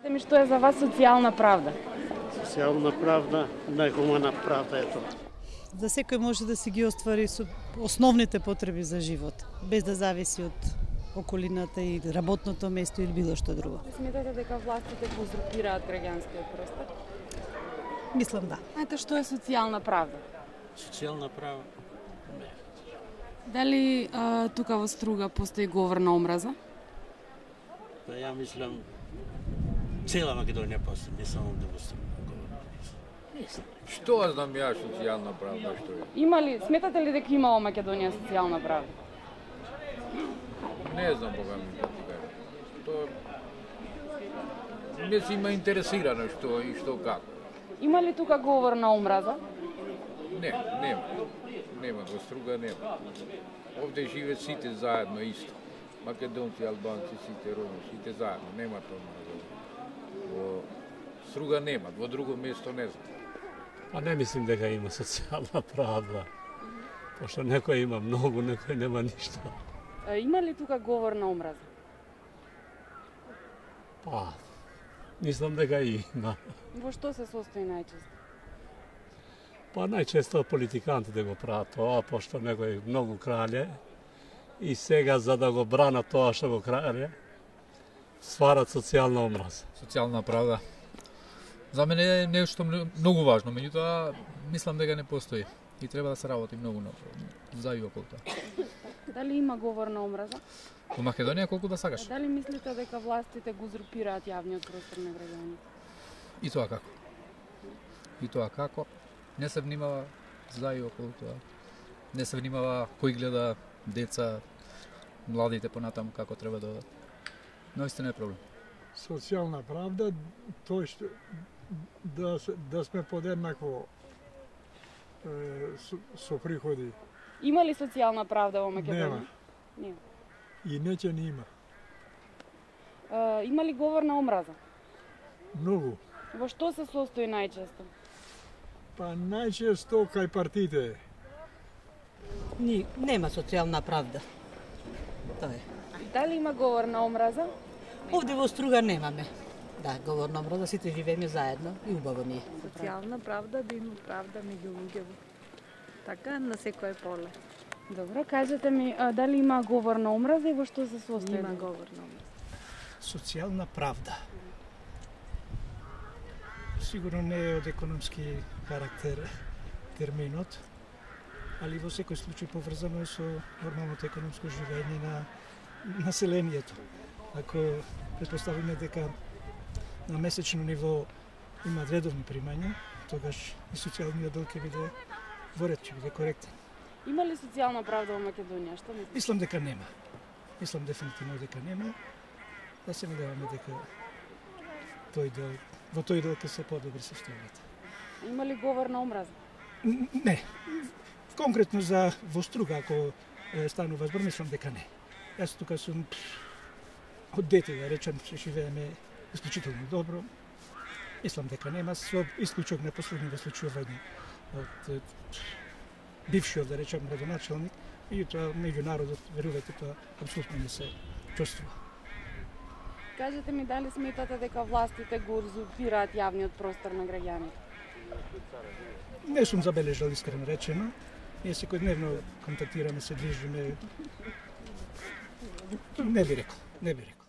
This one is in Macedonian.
Ми што е за вас социјална правда? Социјална правда, најхумана правда е тоа. Да секој може да си ги оствари со основните потреби за живот, без да зависи од околината и работното место или било што друго. Сметате дека властите го узурпираат граѓанскиот простор? Мислам да. Знаете што е социјална правда? Социјална правда? Не. Дали тука во Струга постои говор на омраза? Па ја мислам цела Македонија постои, не само да во Струга. Што знам ја социјална правда што е? Има ли, сметате ли дека има во Македонија социјална правда? Не знам кога ми да ти кажам. Тоа не си ме интересирано што и што како. Има ли тука говор на омраза? Не, нема. Нема, во Струга нема. Овде живеат сите заедно исто. Македонци, албанци, сите роми, сите заедно. Нема тоа. Во Струга нема, во друго место не знам. А не мислим дека има социјална правда. Пошто некој има многу, некој нема ништо. Има ли тука говор на омраза? Па, мислам дека има. Во што се состои најчесто? Па најчесто политикантите го прават тоа, пошто некој многу крале и сега за да го бранат тоа што го крале, стварат социјална омраза. Социјална правда. За мене е нешто многу важно, меѓутоа мислам дека не постои и треба да се работи многу за и околу тоа. Дали има говор на омраза? Во Македонија колку да сакаш? Дали мислите дека властите го узурпираат јавниот простор на граѓаните? И тоа како? И тоа како? Не се внимава за и околу тоа. Не се внимава кој гледа деца, младите понатаму како треба да одат. Наистина е проблем. Социјална правда, тоа што да сме подеднакво со приходи. Има ли социјална правда во Македонија? Нема. Нема. И неќе не има. Има ли говор на омраза? Многу. Во што се состои најчесто? Па најчесто кај партиите. Нема социјална правда. Тоа е. Дали има говор на омраза? Овде во Струга немаме. Да, говор на омраза, сите живееме заедно и убаво ни е. Социјална правда да има правда меѓу луѓето. Така на секое поле. Добро, кажете ми, дали има говор на омраза и во што се состои? Има говор на омраза. Социјална правда. Сигурно не е од економски карактер терминот, али во секој случај поврзано е со нормалното економско живење на населението. Ако претпоставиме дека на месечно ниво има редовни примања, тогаш и социјалниот дел ќе биде во ред, ќе биде коректен. Има ли социјална правда во Македонија? Што мислите? Мислам дека нема. Мислам дефинитивно дека нема. Да се надеваме дека во тој дел ќе се подобри состојбата. Има ли говор на омраза? Не. Конкретно за во Струга, ако станува збор, мислам дека не. Јас тука сум од дете, да речем, се живееме исклучително добро. Мислам дека нема, со исклучок на последните случувања од бившиот, да речем, градоначалник, и тоа меѓу народот, верувате, тоа апсолутно не се чувствува. Кажете ми, дали сметате дека властите го узурпираат јавниот простор на граѓаните? Не сум забележал, искрено речено. Ние секојдневно контактираме, се движиме. Не би рекол.